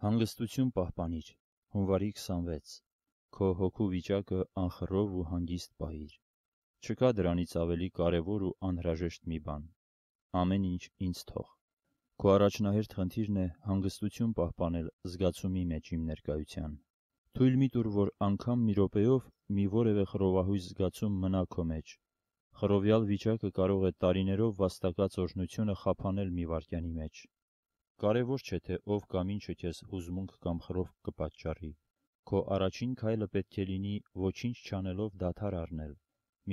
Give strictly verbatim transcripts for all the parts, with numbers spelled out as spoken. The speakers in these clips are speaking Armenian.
Հանգստություն պահպանիր։ Հունվարի քսանվեց Քո հոգու վիճակը անխռով ու հանգիստ պահիր։ Չկա դրանից ավելի կարևոր ու անհրաժեշտ մի բան։ Ամեն ինչ ինձ թող։ Քո առաջնահերթ խնդիրն է հանգստություն պահպանել զգացումի մեջ իմ ներկայության։ Թույլ մի տուր, որ անգամ մի րոպեով մի որևէ խռովահույս զգացում մնա քո մեջ։ Խռովյալ վիճակը կարող է տարիներով վաստակած օրհնությունը խափանել մի վայրկյանի մեջ։ Կարևոր չէ, թե ով կամ ինչը քեզ հուզմունք կամ խռով կպատճառի։ Քո առաջին քայլը պետք է լինի ոչինչ չանելով դադար առնել,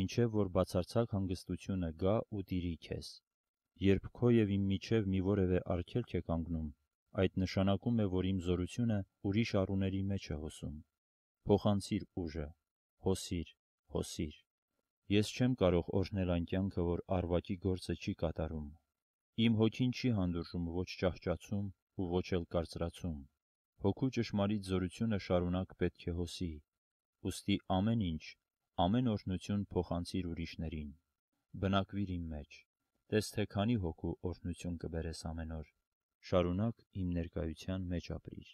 մինչև որ բացարձակ հանգստությունը գա ու տիրի քեզ։ Երբ քո և իմ միջև մի որևէ արգելք է կանգնում, այդ նշանակում է, որ իմ զորությունը ուրիշ առուների մեջ է հոսում։ Փոխանցիր ուժը, հոսիր, հոսիր։ Ես չեմ կարող օրհնել այն կյանքը, որ առվակի գործը չի կատարում։ Իմ հոգին չի հանդուրժում ոչ ճահճացում ու ոչ էլ կարծրացում։ Հոգու ճշմարիտ զորությունը շարունակ պետք է հոսի։ Ուստի ամեն ինչ, ամեն օրհնություն փոխանցիր ուրիշներին։ Բնակվիր իմ մեջ։ Տես թե քանի հոգու օրհնություն կբերես ամեն օր։ Շարունակ իմ ներկայության մեջ ապրիր։